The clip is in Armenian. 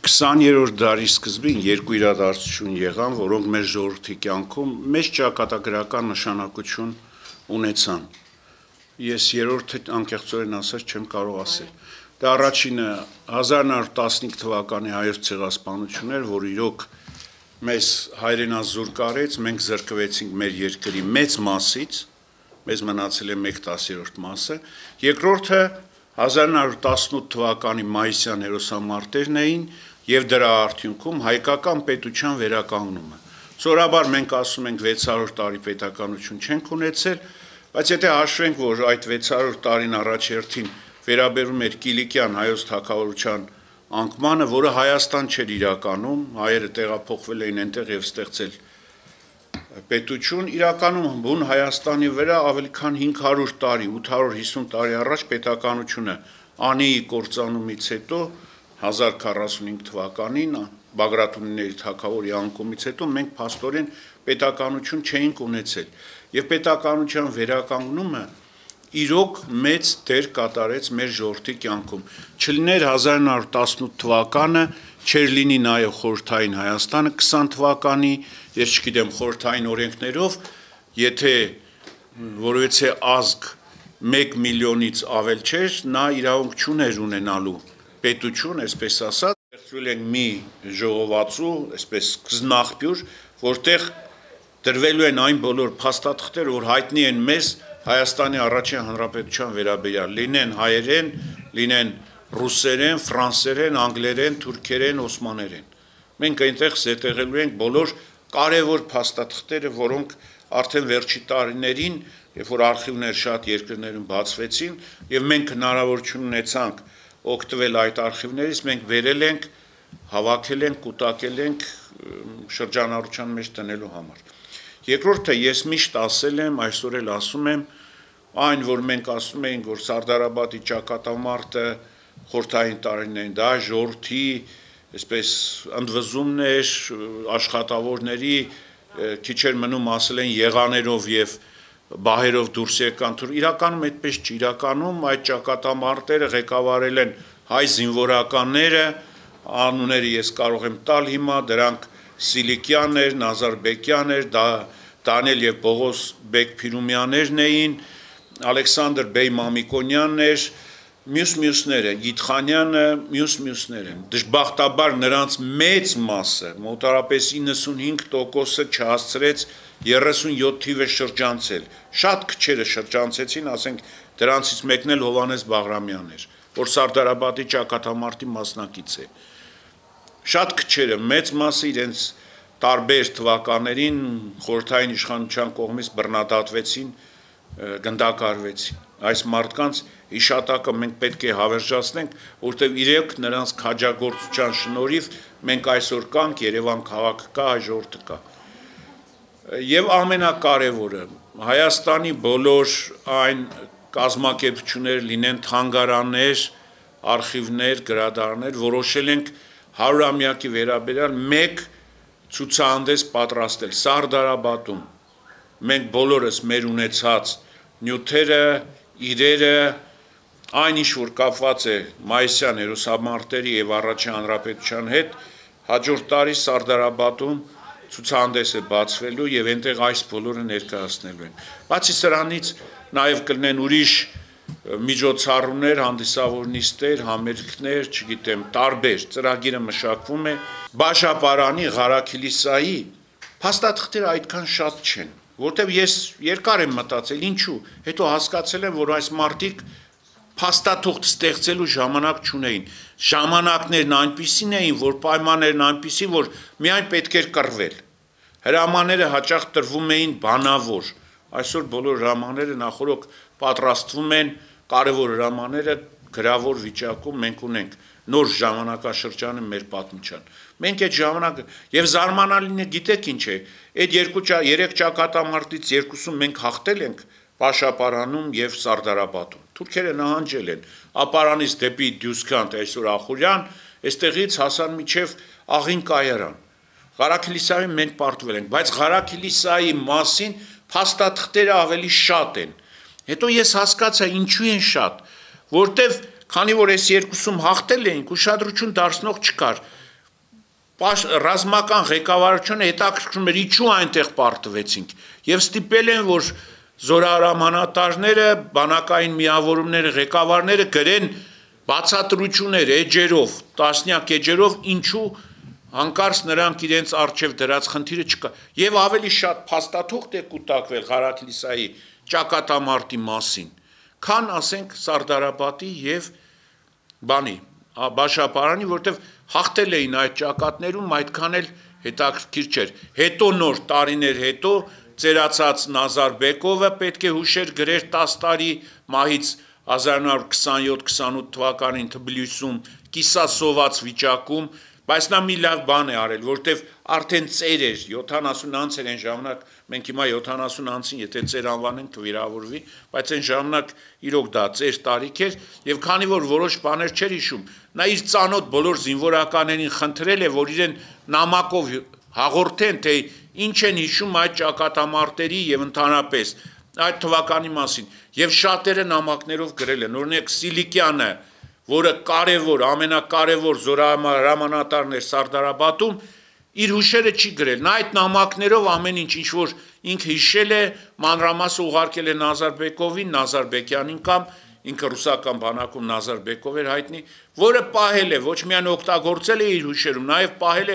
20-րդ դարի սկզբին երկու իրադարձություն եղան, որոնք մեր ժողովրդի կյանքում մեծ ճակատագրական նշանակություն ունեցան։ Ես երրորդը անկեղծորեն ասած չեմ կարող ասել։ Դա առաջինը 1915 թվականի հայոց ցեղասպանությունն էր, որ իրոք մեզ հայրենազուրկ արեց, մենք զրկվեցինք մեր երկրի մեծ մասից, մեզ մնացել է 1/10 մասը։ Երկրորդը 1918 թվականի մայիսյան հերոսամարտերն էին եւ դրա արդյունքում հայկական պետության վերականգնումը։ Սովորաբար մենք ասում ենք 600 տարի պետականություն չենք ունեցել, բայց եթե հաշվենք, որ այդ 600 տարին առաջերտին վերաբերում էր Կիլիկյան հայոց թագավորության անկմանը, որը Հայաստան չէր իրականում, հայերը տեղափոխվել էին այնտեղ եւ ստեղծել պետություն, իրականում բուն Հայաստանի վրա ավելի քան 500 տարի, 850 տարի առաջ պետականությունը Անիի կործանումից հետո 1045 թվականին Բագրատունիների թագավորի անկումից հետո մենք փաստորեն պետականություն չէինք ունեցել եւ պետականության վերականգնումը իրոք մեծ դեր կատարեց մեր ժողովրդի կյանքում։ Չլիներ 1918 թվականը, չէր լինի նաեւ խորհրդային Հայաստանը 20 թվականի, ես չգիտեմ խորհրդային օրենքներով, եթե որովհետեւ ազգ 1 միլիոնից ավել չէր, նա իրավունք չուներ ունենալու պետություն, այսպես ասած, ստեղծվել են մի ժողովածու, այսպես կզնաղբյուր, որտեղ դրվելու են այն բոլոր փաստաթղթեր, որ հայտնի են մեզ Հայաստանի առաջին հանրապետության վերաբերյալ, լինեն հայերեն, լինեն ռուսերեն, ֆրանսերեն, անգլերեն, թուրքերեն, օսմաներեն։ Մենք այնտեղ զետեղելու ենք բոլոր կարևոր փաստաթղթերը, որոնք արդեն վերջի տարիներին, երբ որ արխիվներ շատ երկրներում բացվեցին, եւ մենք հնարավորություն ունեցանք օգտվել այդ արխիվներից, մենք վերել ենք, հավաքել ենք, կուտակել ենք շրջանառության մեջ տնելու համար։ Երկրորդը ես միշտ ասել եմ, այսօր էլ ասում եմ, այն որ մենք ասում էինք, որ Սարդարաբադի ճակատամարտը խորհրդային տարիներին, դա ժողովրդի, այսպես ընդվզումն էր, աշխատավորների քիչ էր մնում ասել են եղաներով եւ բահերով դուրս եկան, իրականում այդպես չի, իրականում այդ ճակատամարտերը ղեկավարել են հայ զինվորականները, անունները ես կարող եմ տալ հիմա, դրանք Սիլիկյաններ, Նազարբեկյաններ, Դանիել եւ Պողոս Բեկ Փիրումյաներն էին, Ալեքսանդր Բեյ Մամիկոնյանն էր, մյուսները, Գիթխանյանը, մյուսները։ Դժբախտաբար նրանց մեծ մասը, մոտարապես 95%-ը չհասցրեց 37 թիվը շրջանցել։ Շատ քչերը շրջանցեցին, ասենք դրանցից մեկն էլ Հովհաննես Բաղրամյանն էր, որ Սարդարաբադի ճակատամարտի մասնակից է։ Շատ քչերը, մեծ մասը իրենց տարբեր թվականներին խորհրդային իշխանության կողմից բռնադատվեցին, գնդակարվեցին։ Այս մարդկանց հիշատակը մենք պետք է հավերժացնենք, որտեղ իրենք նրանց քաջագործության շնորհիվ մենք այսօր կանք, Երևան քաղաքը կա, հայ ժողովուրդը կա։ Եվ ամենակարևորը, Հայաստանի բոլոր այն կազմակերպությունները լինեն թանգարաններ, արխիվներ, գրադարաններ, որոշել ենք 100-ամյակի վերաբերյալ մեկ ցուցահանդես պատրաստել Սարդարաբադում։ Մենք բոլորս մեր ունեցած նյութերը, իրերը, այն ինչ որ կապված է մայիսյան հերոսամարտերի եւ առաջին հանրապետության հետ, հաջորդ տարի Սարդարաբադում ցուցահանդես է բացվելու եւ այնտեղ այս բոլորը ներկայացնելու են։ Բացի սրանից նաեւ կլինեն ուրիշ միջոցառումներ, հանդիսավոր նիստեր, համերգներ, չգիտեմ, տարբեր ծրագիրը մշակվում է, Բաշապարանի, Ղարաքիլիսայի փաստաթղթերը այդքան շատ չեն, որտեղ ես երկար եմ մտածել, ինչու, հետո հասկացել եմ, որ այս մարդիկ փաստաթուղթ ստեղծելու ժամանակ չունեին։ Ժամանակներն այնպիսին էին, որ պայմաններն այնպիսի, որ միայն պետք էր կռվել։ Հրամանները հաճախ տրվում էին բանավոր։ Այսօր բոլոր հրամանները նախորոք պատրաստվում են, կարևոր հրամանները գրավոր վիճակում մենք ունենք, նոր ժամանակաշրջանը մեր պատմության։ Մենք այդ ժամանակը եւ զարմանալին է, գիտեք ինչ է, այդ 2-3 ճակատամարտից երկուսում մենք հաղթել ենք Բաշապարանում եւ Սարդարաբադում։ Թուրքերը նահանջել են, ապարանից դեպի Դյուսքանդ, այսօր Ախուրյան, այստեղից հասան միջև Աղին կայարան։ Ղարաքիլիսայում մենք պարտվել ենք, բայց Ղարաքիլիսայի մասին փաստաթղթերը ավելի շատ են։ Հետո ես հասկացա ինչու են շատ, որտեվ քանի որ այս երկուսում հաղթել էինք, ուշադրություն դարձնող չկար։ ռազմական ղեկավարությունը հետաքրքրում էր ինչու այնտեղ պարտվեցինք եւ ստիպել են որ զորահրամանատարները, բանակային միավորումները, ղեկավարները գրեն բացատրություններ էջերով, տասնյակ էջերով ինչու հանկարծ նրանք իրենց արժև դրած խնդիրը չկա եւ ավելի շատ փաստաթուղթ է կուտակվել Ղարաքլիսայի ճակատամարտի մասին, քան ասենք Սարդարապետի եւ բանի Բաշապարանի, որտեվ հաղթել էին այդ ճակատներում, այդքան էլ հետաքրքիր չէր։ Հետո նոր տարիներ հետո ծերացած Նազարբեկովը պետք է հուշեր գրեր 10 տարի մահից 1927-28 թվականին Թբիլիսում կիսասոված վիճակում, բայց նա մի լավ բան է արել, որտեվ արդեն ծեր էր 70 անց էր այն ժամանակ, մենք հիմա 70 անցին, եթե ծեր անվանենք կվիրավորվի, բայց այն ժամանակ իրոք դա ծեր տարիք էր եւ քանի որ որոշ բաներ չէր հիշում, նա իր ծանոթ բոլոր զինվորականներին խնդրել է, որ իրեն նամակով հաղորդեն, թե ինչ են հիշում այդ ճակատամարտերի եւ ընդհանրապես այդ թվականի մասին եւ շատերը նամակներով գրել են, օրինակ Սիլիկյանը, որը կարևոր, ամենակարևոր զորահրամանատարն էր Սարդարապետում, իր հուշերը չի գրել, նա այդ նամակներով ամեն ինչ որ ինքը հիշել է, մանրամասը ուղարկել է Նազարբեկովին, Նազարբեկյանին կամ ինքը ռուսական բանակում Նազարբեկով էր հայտնի, որը պահել է, ոչ միայն օգտագործել է իր հուշերում, նաև պահել է